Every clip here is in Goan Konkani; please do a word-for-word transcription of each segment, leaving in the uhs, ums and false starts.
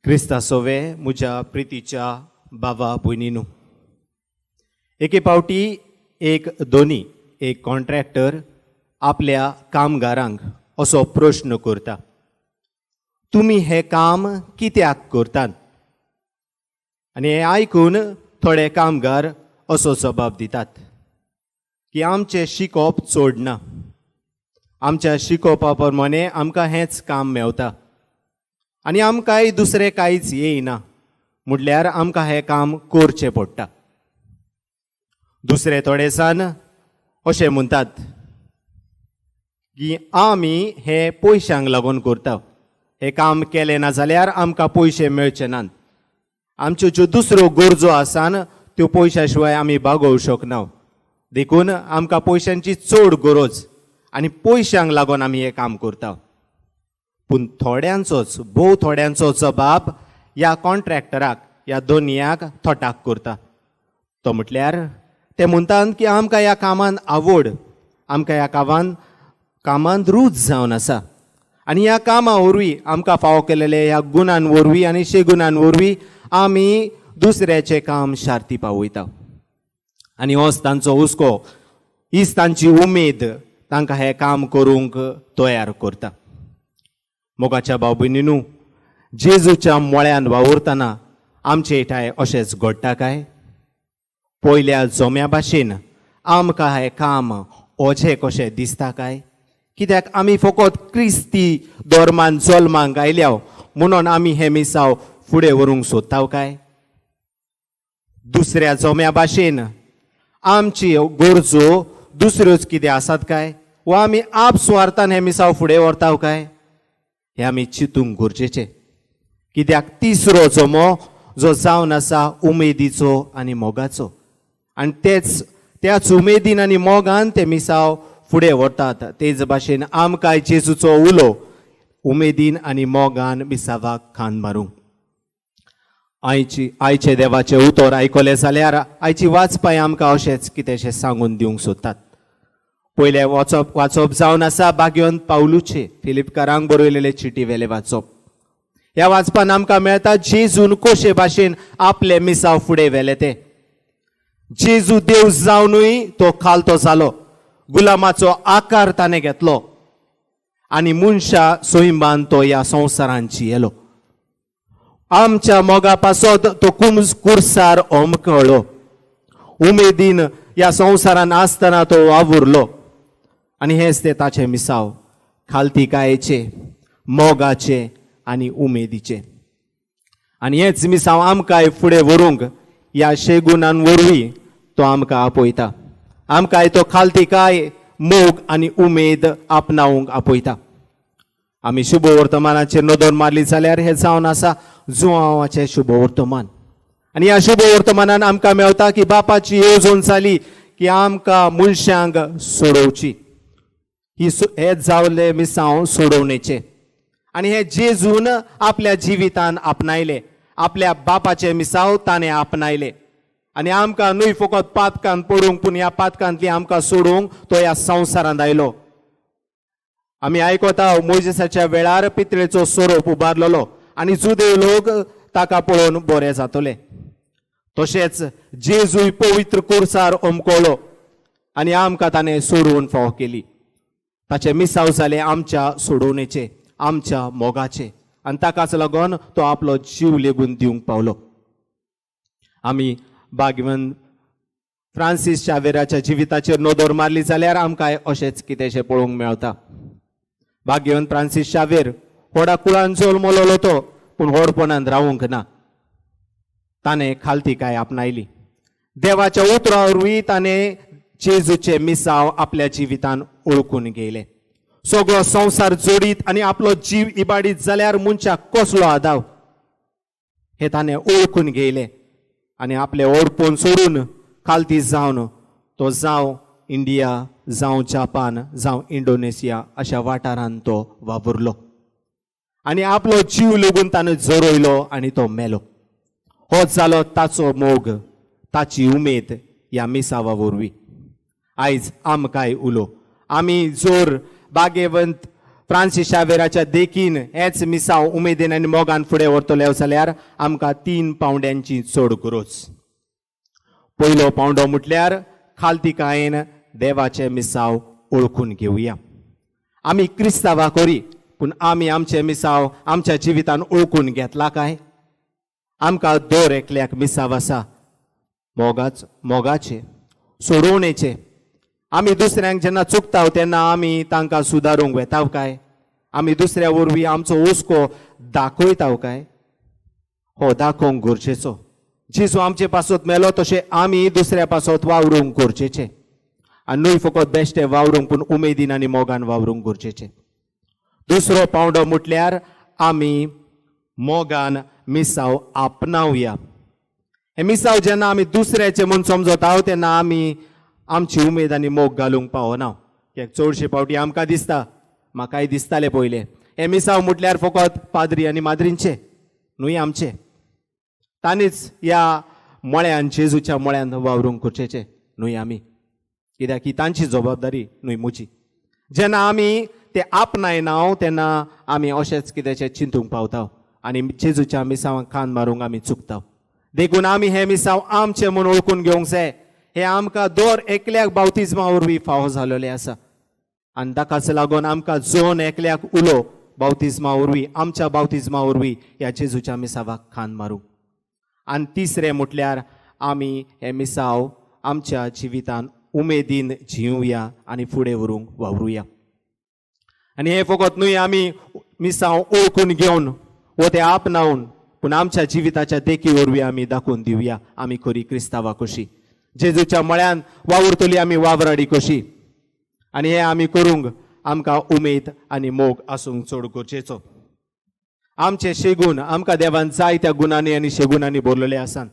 क्रिस्ता सोवे म्हज्या प्रितीच्या बाबा भयणीनू, एके फावटी एक दोनी एक कॉन्ट्रॅक्टर आपल्या कामगारांक असो प्रश्न करता, तुमी हें काम कित्याक करतात? आनी हें आयकून थोडे कामगार असो जबाब दितात की आमचें शिकोवप चड ना, आमच्या शिकोवपा प्रमाणे आमकां हेंच काम मेवता आनी आमकांय दुसरें कांयच येयना, म्हटल्यार आमकां हें काम करचें पडटा. दुसरे थोडे जाण अशें म्हणटात की आमी हें पयशांक लागून करता, हें काम केलें ना जाल्यार आमकां पयशे मेळचे नात, आमच्यो ज्यो दुसऱ्यो गरजो आसा त्यो पयशां शिवाय आमी भागोवंक शकना, देखून आमकां पयशांची चड गरज आनी पयशांक लागून आमी हें काम करता. पूण थोड्यांचोच, भोव थोड्यांचो जबाब ह्या कॉन्ट्रॅक्टराक, ह्या दोनयाक थटाक करता. तो म्हटल्यार ते म्हणटात की आमकां ह्या कामान आवड, आमकां ह्या कामान कामांत रूच जावन आसा आनी ह्या कामा वरवीं आमकां फावो केलेले ह्या गुणान वरवीं आनी शेगुणान वरवीं आमी दुसऱ्याचें काम शार्ती पावयता. आनी होच तांचो हुस्को, हीच तांची उमेद तांकां हें काम करूंक तयार करता. मोगाच्या भाव भयणीनू, जेजूच्या मोळ्यान वावुरतना आमचे ठांय अशेंच घडटा काय? पयल्या जोम्या भाशेन आमकां हें काम ओझें कशें दिसता काय? कित्याक आमी फकत क्रिस्ती धर्मान जल्माक आयल्या म्हणून आमी हें मिसांव फुडें व्हरूंक सोदता काय? दुसऱ्या जोम्या भाशेन आमची गरजो दुसऱ्योच कितें आसात काय, वा आमी आप सुवार्थान हें मिसांव फुडें व्हरता काय? हें आमी चिंतूंक गरजेचें. कित्याक तिसरो जमो जो जावन आसा उमेदीचो आनी मोगाचो, आनी तेच त्याच उमेदीन आनी मोगान ते मिसांव फुडें व्हरतात. तेच भाशेन आमकां जेजूचो उलो उमेदीन आनी मोगान मिसावाक खान मारूंक. आयची आयचे देवाचें उतर आयकलें जाल्यार आयची वाचपाय आमकां अशेंच कितेंशें सांगून दिवंक सोदतात. पयलें वाचप वाचप जावन आसा बाग्योन पावलूचे फिलिपकारांक बरयलेले चिटी वेले वाचप. ह्या वाचपान आमकां मेळटा जेजून कशे भाशेन आपले मिसांव फुडें व्हेले ते. जेजू देव जावनूय तो खालतो जालो, गुलामाचो आकार ताणें घेतलो आनी मनशा सोयंबान तो ह्या संवसारान जियेलो. आमच्या मोगा पासत तो कुमस कुर्सार ओमकळ्ळो, उमेदीन ह्या संवसारान आसतना तो वावुरलो आनी हेंच ते ताचें मिसांव खालतीकायेचें, मोगाचें आनी उमेदीचें. आनी हेंच मिसांव आमकांय फुडें व्हरूंक ह्या शेगुणान वरवीं तो आमकां आपयता, आमकांय तो खालतीकाय, मोग आनी उमेद आपणावंक आपयता. आमी शुभ वर्तमानाचेर नदर मारली जाल्यार हें जावन आसा जुआंवाचें शुभ वर्तमान. आनी ह्या शुभ वर्तमानान आमकां मेवता की बापाची येवजण जाली की आमकां मनशांक सोडोवची, ही हें जावलें मिसांव सोडोवणेचें. आनी हें जेजून आपल्या जिवितान आपणायलें, आपल्या बापाचें मिसांव ताणें आपणायलें आनी आमकां न्हय फकत पातकान पडूंक, पूण ह्या पातकांतली आमकां सोडूंक तो ह्या संवसारांत आयलो. आमी आयकता मोजेसाच्या वेळार पितळेचो सोरोप उबारलेलो आनी जुदेव लोक ताका पळोवन बरे जातले. तशेंच जेजूय पवित्र कुर्सार ओमकोलो आनी आमकां ताणें सोडोवन फावो केली. ताचें मिसांव जालें आमच्या सोडोवणेचें, आमच्या मोगाचें आनी ताकाच लागून तो आपलो जीव लेगून दिवंक पावलो. आमी भाग्यवंत फ्रांसीस शावेराच्या जिविताचेर नदर मारली जाल्यार आमकां अशेंच कितेंशें पळोवंक मेळटा. भाग्यवंत फ्रांसीस शावेर व्हडा कुळान जल्मलोलो तो, पूण व्हडपणान रावूंक ना, ताणें खालतीकाय आपणायली. देवाच्या उतरा वरवीं ताणें जेजूचें मिसांव आपल्या जिवितान ओळखून घेयलें. सगळो संवसार जोडीत आनी आपलो जीव इबाडीत जाल्यार मनशाक कसलो आदाव हें ताणें ओळखून घेयलें आनी आपलें ओडपण सोडून खालती जावन तो जावं इंडिया, जावं जापान, जावं इंडोनेशिया अशा वाठारान तो वावुरलो आनी आपलो जीव लेगून ताणें जरयलो आनी तो मेलो. होच जालो ताचो मोग, ताची उमेद ह्या मिसावा वरवीं. आयज आमकांय उलो, आमी जोर भाग्यवंत फ्रांसीस शावेराच्या देखीन हेच मिसांव उमेदीन आनी मोगान फुडें व्हरतले जाल्यार आमकां तीन पावंड्यांची चड गरज. पयलो पावंडो म्हटल्यार खालतीकायेन देवाचें मिसांव ओळखून घेवया. आमी क्रिस्तांवा करी पूण आमी आमचें मिसांव आमच्या जिवितान ओळखून घेतला काय? आमकां दर एकल्याक मिसांव आसा मोगाच मोगाचें सोडोवणेचें. आमी दुसऱ्यांक जेन्ना चुकता तेन्ना आमी तांकां सुदारूंक वेताव काय? आमी दुसऱ्या वरवीं आमचो हुस्को दाखयताव काय? हो दाखोवंक गरजेचो. जेजू आमचे पासत मेलो तशें आमी दुसऱ्या पासत वावरूंक गरजेचें आनी न्हय फकत बेश्टें वावरूंक पूण उमेदीन आनी मोगान वावरूंक गरजेचें. दुसरो पावंडो म्हटल्यार आमी मोगान मिसांव आपणावया. हें मिसांव जेन्ना आमी दुसऱ्याचें म्हूण समजता तेन्ना आमी आमची उमेद आनी मोग घालूंक पावना. कित्याक चडशे फावटी आमकां दिसता, म्हाकाय दिसतालें पयलें, हें मिसांव म्हटल्यार फकत पाद्री आनी माद्रींचें न्हय आमचें. तांणीच ह्या मळ्यान जेजूच्या मळ्यान वावरूंक गरजेचें न्हय आमी, कित्याक ही तांची जबाबदारी न्हय म्हजी. जेन्ना आमी ते आपणायना तेन्ना आमी अशेंच कित्याचें चिंतूंक पावता आनी जेजूच्या मिसांवाक खांद मारूंक आमी चुकता. देखून आमी हें मिसांव आमचें म्हूण ओळखून घेवंक जाय. हें आमकां दर एकल्याक बावतिज्मा वरवीं फावो जालोलें आसा आनी ताकाच लागून आमकां जोन एकल्याक उलो बावतिज्मा वरवीं आमच्या बावतिज्मा वरवीं ह्या जेजूच्या मिसांवाक खांद मारूंक. आनी तिसरें म्हटल्यार आमी हें मिसांव आमच्या जिवितान उमेदीन जिवया आनी फुडें व्हरूंक वावरुया. आनी हें फकत न्हय आमी मिसांव ओळखून घेवन वो तें आपणावन पूण आमच्या जिविताच्या देखी वरवीं आमी दाखोवन दिवया आमी खरी क्रिस्तांवा कशी, जेजूच्या मळ्यान वावुरतली आमी वावराडी कशी. आनी हें आमी करूंक आमकां उमेद आनी मोग आसूंक चड गरजेचो. आमचे शेगूण आमकां देवान जाय त्या गुणांनी आनी शेगुणांनी भरलेले आसात,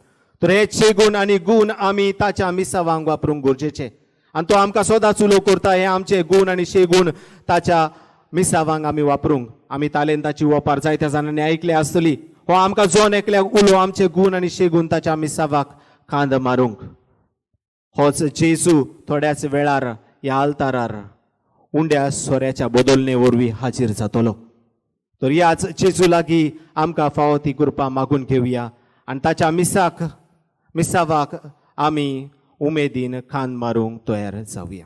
तर हे शेगूण आनी गूण आमी ताच्या मिसावांक वापरूंक गरजेचे. आनी तो आमकां सदांच उलो करता हे आमचे गूण आनी शेगूण ताच्या मिसावांक आमी वापरूंक. आमी तालेंताची वपार जायत्या जाणांनी आयकले आसतली. हो आमकां जोन एकल्याक उलो आमचे गूण आनी शेगूण ताच्या मिसावाक खांद मारूंक. होच जेजू थोड्याच वेळार ह्या आल्तारार उंड्या सोऱ्याच्या बदलणे वरवीं हाजीर जातलो. तर ह्याच जेजू लागीं आमकां फावो ती कृपा मागून घेवया आनी ताच्या मिसाक मिसावाक आमी उमेदीन खांद मारूंक तयार जावया.